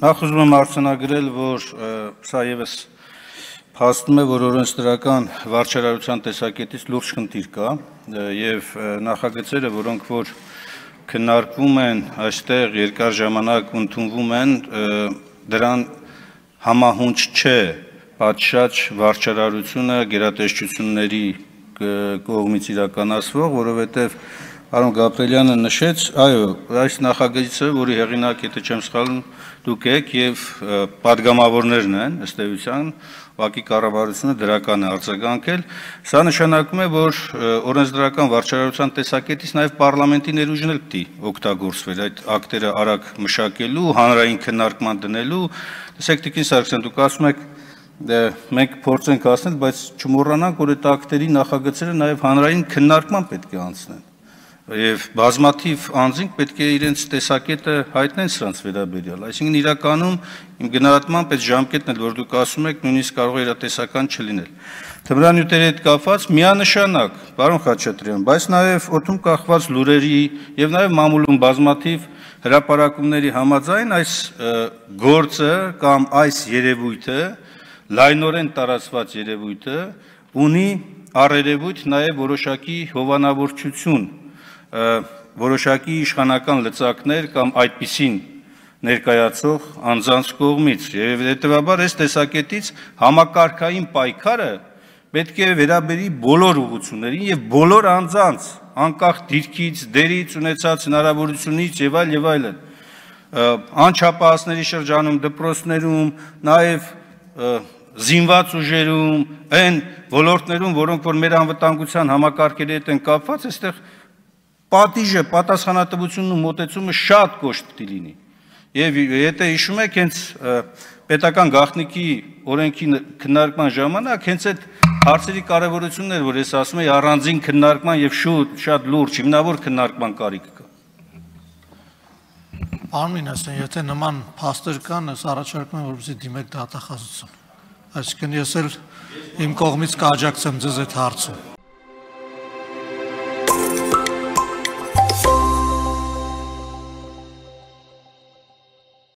Նախ ուզում եմ արձանագրել, որ սա ևս փաստում է, որ օրենսդրական վարչարարության տեսակետից լուրջ խնդիր կա եւ նախագծերը, որոնք որ քննարկվում են այստեղ երկար ժամանակ ընդունվում են, դրան համահունչ չէ պատշաճ վարչարարությունը գերատեսչությունների կողմից իրականացվող, որովհետեւ Պարոն Գաբրելյանը նշեց, այո, այս նախագծը, որի հեղինակ, եթե չեմ սխալվում, դուք եք եւ падգամավորներն են, ըստ էության, ուղղակի կառավարությունը դրական է արձագանքել, սա նշանակում է, որ օրենսդրական վարչարարության տեսակետից նաեւ պարլամենտի ներուժն էլ պիտի օգտագործվեր այդ ակտերը արագ մշակելու, հանրային քննարկման դնելու, տեսեք Տիկին Սարգսյան, դուք ասում եք մենք փորձենք ասնել, բայց չմոռանանք, որ այդ ակտերի նախագծերը նաեւ հանրային քննարկման պետք է անցնեն։ Եվ բազմաթիվ անձինք պետք է իրենց տեսակետը հայտնեն սրանց վերաբերյալ, այսինքն իրականում իմ գնահատմամբ այդ ժամկետն էլ, որ դուք ասում եք, նույնիսկ կարող է իրատեսական չլինել։ Թմրանյութերի հետ կապված միանշանակ, պարոն Խաչատրյան, բայց նաև օդում կախված լուրերի եւ նաև մամուլում բազմաթիվ հրապարակումների համաձայն այս գործը կամ այս երևույթը, լայնորեն տարածված երևույթը ունի առերևույթ նաև որոշակի հովանավորչություն որոշակի իշխանական լծակներ կամ այդպիսին ներկայացող անձանց կողմից եւ հետեւաբար այս տեսակետից համակարգային պայքարը պետք է վերաբերի բոլոր ուղղություններին եւ բոլոր անձանց անկախ դիրքից, դերից, ունեցած հնարավորությունից եւ այլն անչափահասների շրջանում, դպրոցներում, նաեւ զինված ուժերում, այն ոլորտներում, որոնք որ մեր անվտանգության համակարգերի հետ են կապված, այստեղ պատիժը, պատասխանատվությունն ու մոտեցումը շատ կոշտ պիտի լինի։ Եվ եթե հիշում եք, հենց պետական գաղտնիքի օրենքի քննարկման ժամանակ հենց այդ հարցերի կարևորությունն էր, որ ես ասում եի առանձին քննարկման եւ շատ լուրջ հիմնավոր քննարկման կարիք կա։ Պարոն Մինասյան, եթե նման փաստեր կան, ես առաջարկում եմ, որպեսզի դիմեք դատախազություն։ Այսինքն ես էլ իմ կողմից կաջակցեմ ձեզ այդ հարցում։